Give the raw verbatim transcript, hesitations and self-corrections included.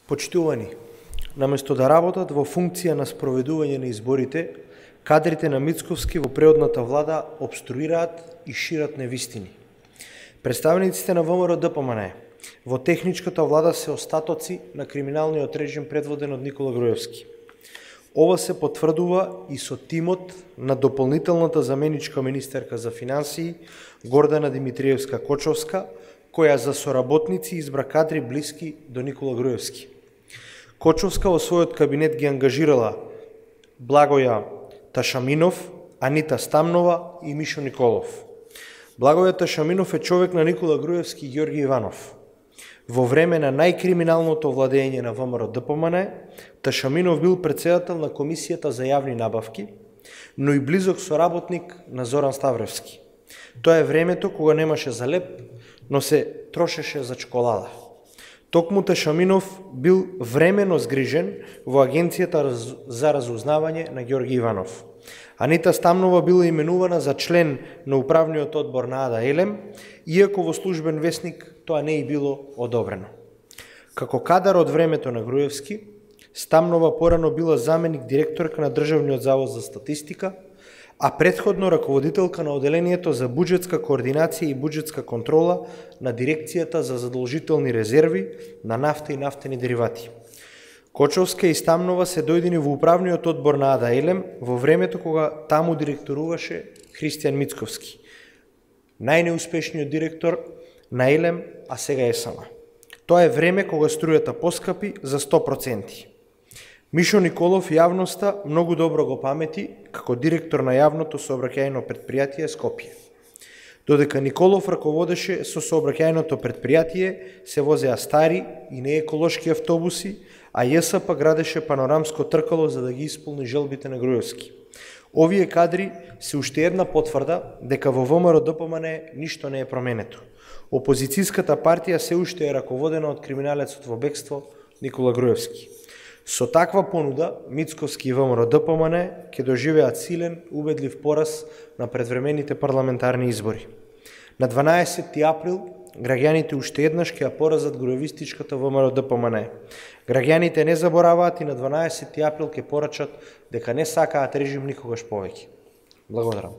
Почитувани, наместо да работат во функција на спроведување на изборите, кадрите на Мицковски во преодната влада обструираат и шират невистини. Представниците на ВМРО-ДПМН во техничката влада се остатоци на криминалниот режим предводен од Никола Груевски. Ова се потврдува и со тимот на дополнителната заменичка министерка за финансии Гордана Димитриевска-Кочовска, која за соработници избра кадри блиски до Никола Груевски. Кочовска во својот кабинет ги ангажирала Благоја Ташаминов, Анита Стамнова и Мишо Николов. Благоја Ташаминов е човек на Никола Груевски и Ѓорги Иванов. Во време на најкриминалното владење на ВМРО-ДПМН, Ташаминов бил претседател на Комисијата за јавни набавки, но и близок соработник на Зоран Ставревски. Тоа е времето кога немаше за леп, но се трошеше за чоколада. Токму Ташаминов бил времено згрижен во Агенцијата за разузнавање на Ѓорги Иванов. Анита Стамнова била именувана за член на управниот одбор на Ада Елем, иако во службен весник тоа не и било одобрено. Како кадар од времето на Груевски, Стамнова порано била заменик директорка на Државниот завод за статистика, а претходно раководителка на оделението за буџетска координација и буџетска контрола на Дирекцијата за задолжителни резерви на нафта и нафтени деривати. Кочовска и Стамнова се дојдени во управниот одбор на Ада Елем во времето кога таму директоруваше Христијан Мицковски, најнеуспешниот директор на Елем, а сега ЕСМ. Тоа е време кога струјата поскапи за сто проценти. Мишо Николов јавноста многу добро го памети како директор на јавното сообраќајно предпријатие Скопје. Додека Николов раководеше со сообраќајното предпријатие, се возеа стари и нееколошки автобуси, а ЈСП градеше панорамско тркало за да ги исполни желбите на Груевски. Овие кадри се уште една потврда дека во ВМРО-ДПМН ништо не е променето. Опозицијската партија се уште е раководена од криминалецот во бегство Никола Груевски. Со таква понуда, Мицковски и ВМРО-ДПМН ќе доживеат силен, убедлив пораз на предвремените парламентарни избори. На дванаесетти април, граѓаните уште еднаш ќе ја поразат груевистичката ВМРО-ДПМН. Граѓаните не забораваат и на дванаесетти април ќе порачат дека не сакаат режим никогаш повеќе. Благодарам.